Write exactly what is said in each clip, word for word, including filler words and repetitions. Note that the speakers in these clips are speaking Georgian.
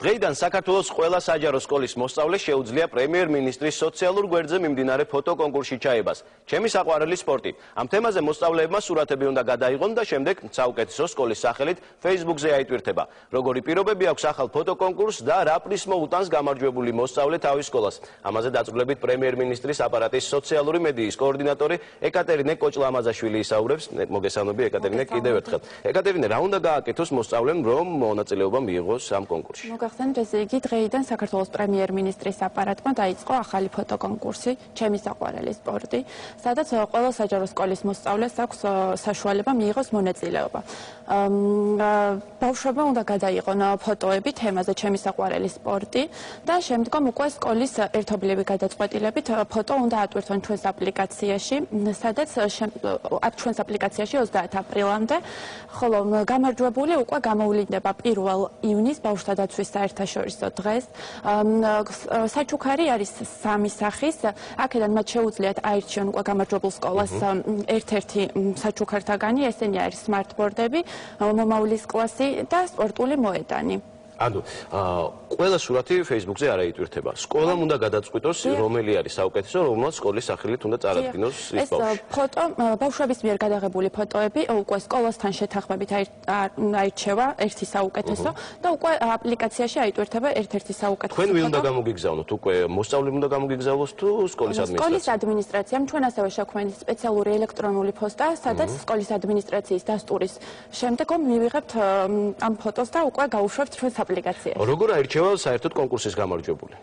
დღეიდან საქართველოს ყველა საჯარო სკოლის მოსწავლეს შეუძლია პრემიერ-მინისტრის სოციალურ გვერდზე მიმდინარე ფოტოკონკურსში ჩაებას. ჩემი საყვარელი სპორტი. ამ თემაზე მოსწავლეებმა სურათები უნდა გადაიღონ და შემდეგ საუკეთესო სკოლის სახელით Facebook-ზე აიტვირთება. როგორი პირობები აქვს ახალ ფოტოკონკურსს და რა პრიზმო უტანს გამარჯვებული მოსწავლე თავის სკოლას. ამაზე დაწვრილებით პრემიერ-მინისტრის აპარატის სოციალური მედიის კოორდინატორი ეკატერინე კოჭლამაზაშვილი ისაუბრებს. მოგესალმები ეკატერინე კიდევ ერთხელ. ეკატერინე, რა უნდა გააკეთოს მოსწავლემ, რომ მონაწილეობა მიიღოს ამ კონკურსში? მოგახსენებთ, ესე იგი დღეიდან საქართველოს პრემიერ-მინისტრის აპარატმა დაიწყო ახალი ფოტოკონკურსი ჩემი საყვარელი სპორტი, სადაც ყველა საჯარო სკოლის მოსწავლეს აქვს საშუალება მიიღოს მონაწილეობა. ბავშვებმა უნდა გადაიღონ ფოტოები თემაზე ჩემი საყვარელი სპორტი და შემდგომ უკვე სკოლის ერთობლივი გადაწყვეტილებით ფოტო უნდა ატვირთონ ჩვენს აპლიკაციაში, სადაც ჩვენს აპლიკაციაში ოცდაათი აპრილამდე, ხოლო გამარჯვებული უკვე გამოვლინდება პირველ ივნისს ბავშვთა დაცვის საერთაშორისო დღეს. საჩუქარი არის სამი სახის, აქედან მათ შეუძლიათ აირჩიონ უკვე გამარჯვებულ სკოლას ერთ-ერთი საჩუქართაგანი, ესენი არის სმარტბორდები, მომავლის კლასი და სპორტული მოედანი. ანუ ყველა სურათი Facebook-ზე არ აიტვირთება. სკოლამ უნდა გადაწყვიტოს, რომელი არის საუკეთესო, რომელსაც სკოლის სახელით უნდა წარადგინოს ის ბავშვი. ეს ფოტო, ბავშვების მიერ გადაღებული ფოტოები უკვე სკოლასთან შეთანხმებით აირჩევა ერთი საუკეთესო და უკვე აპლიკაციაში აიტვირთება ერთ-ერთი საუკეთესო. თქვენ ვინ უნდა გამოგიგზავნოთ? უკვე მოსწავლემ უნდა გამოგიგზავნოს თუ სკოლის ადმინისტრაციამ? სკოლის ადმინისტრაციამ. ჩვენ ასევე შექმნით სპეციალური ელექტრონული პოსტა, სადაც სკოლის ადმინისტრაციის დასტურის შემდეგ მივიღებთ ამ ფოტოს და უკვე გავუშვებთ ჩვენს აპლიკაციაში. როგორ აირჩევა საერთოდ კონკურსის გამარჯვებული?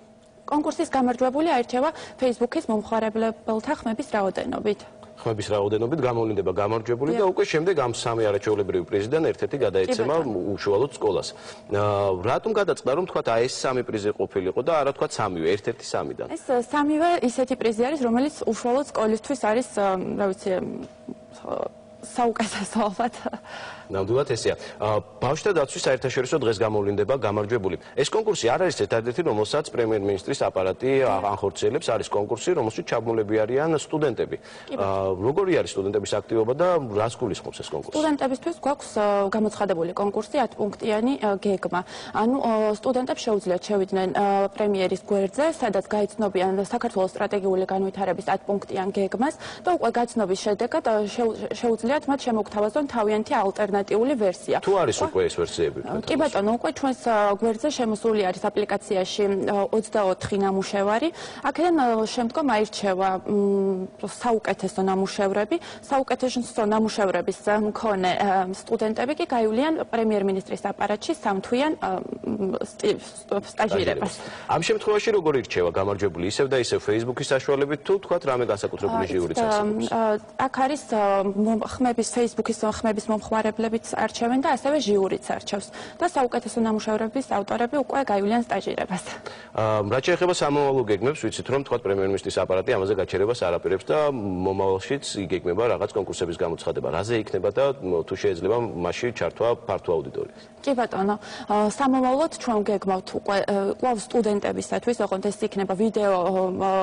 კონკურსის გამარჯვებული აირჩევა Facebook-ის მომხმარებელთა ხმების რაოდენობით. ხმების რაოდენობით გამოვლინდება გამარჯვებული და უკვე შემდეგ ამ სამი არაჩვეულებრივი პრიზიდან ერთ-ერთი გადაეცემა უშუალოდ სკოლას. რატომ გადაწყდა, რომ თქვა აი ეს სამი პრიზი ყოფილიყო და არა თქვა სამივე, ერთ-ერთი სამიდან? ეს სამივე ისეთი პრიზი არის, რომელიც უშუალოდ სკოლისთვის არის, რა ვიცი, საუკეთესო ალბათ. ნამდვილად ესეა. ბავშვთა დაცვის საერთაშორისო დღეს გამოვლინდება გამარჯვებული. ეს კონკურსი არ არის ერთადერთი, რომელსაც პრემიერ-მინისტრის აპარატი ანხორციელებს, არის კონკურსი, რომელშიც ჩაბმულები არიან სტუდენტები. როგორი არის სტუდენტების აქტივობა და რას გულისხმობს ეს კონკურსი? სტუდენტებისთვის გვაქვს გამოცხადებული კონკურსი ათპუნქტიანი გეგმა. ანუ სტუდენტებს შეუძლიათ შევიდნენ პრემიერის გვერდზე, სადაც გაიცნობიან საქართველოს სტრატეგიული განვითარების ათპუნქტიან გეგმას და უკვე გაცნობის შედეგად შეუძლიათ მათ შემოგთავაზონ თავიანთი ალტერნატიული ვერსია. თუ არის უკვე ეს ვერსიები? კი ბატონო, უკვე ჩვენს გვერდზე შემოსული არის აპლიკაციაში ოცდაოთხი ნამუშევარი. აქედან შემდგომ აირჩევა საუკეთესო ნამუშევრები. საუკეთესო ნამუშევრების მქონე სტუდენტები კი გაივლიან პრემიერ-მინისტრის აპარატში სამთვიან სტაჟირებას. ამ შემთხვევაში როგორ ირჩევა გამარჯვებული? ისევ და ისევ Facebook-ის საშუალებით თუ თქვათ რამე განსაკუთრებული ჟიურიც არსებობს? აქ არის ხმების Facebook-ის ხმების მომხმარებლებიც არჩევენ და ასევე ჟიურიც არჩევს და საუკეთესო ნამუშევრების ავტორები უკვე გაივლიან სტაჟირებას. რაც შეეხება სამომავლო გეგმებს, ვიცით რომ თქვათ პრემიერ-მინისტრის აპარატი ამაზე გაჩერებას არ აპირებს და მომავალშიც იგეგმება რაღაც კონკურსების გამოცხადება. რაზე იქნება და თუ შეიძლება მასში ჩართვა ფართო აუდიტორიას? კი ბატონო, სამომავლოდ ჩვენ გეგმავთ უკვე კვლავ სტუდენტებისათვის, ოღონდ ეს იქნება ვიდეო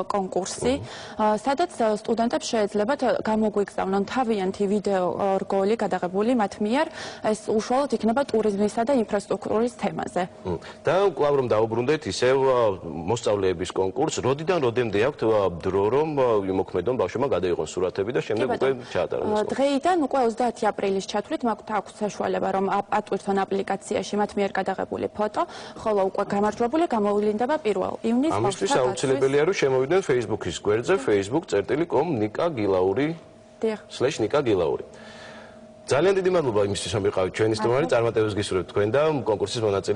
კონკურსი, სადაც სტუდენტებს შეეძლებათ გამოგვიგზავნონ თავიანთი ვიდეო რგოლი გადაღებული მათ მიერ, ეს უშუალოდ იქნება ტურიზმისა და ინფრასტრუქტურის თემაზე. და კვლავ რომ დაუბრუნდეთ ისევ მოსწავლეების კონკურსს, როდიდან როდემდე აქვთ დრო რომ იმოქმედონ ბავშვებმა გადაიღონ სურათები და შემდეგ უკვე ჩაატარონ ეს? დღეიდან უკვე ოცდაათი აპრილის ჩათვლით მაქვთ აქვს საშუალება რომ ატვირთონ აპლიკაციაში მათ მიერ გადაღებული ფოტო, ხოლო უკვე გამარჯვებული გამოვლინდება პირველ ივნისს. ამისთვის აუცილებელია რომ შემოვიდნენ Facebook-ის გვერდზე facebook წერტილი com ნიკა გილაური სლეშ ნიკა გილაური. ძალიან დიდი მადლობა იმისთვის რომ იყავით ჩვენი სტუმარი, წარმატებებს გისურვებთ თქვენ და კონკურსის მონაწილე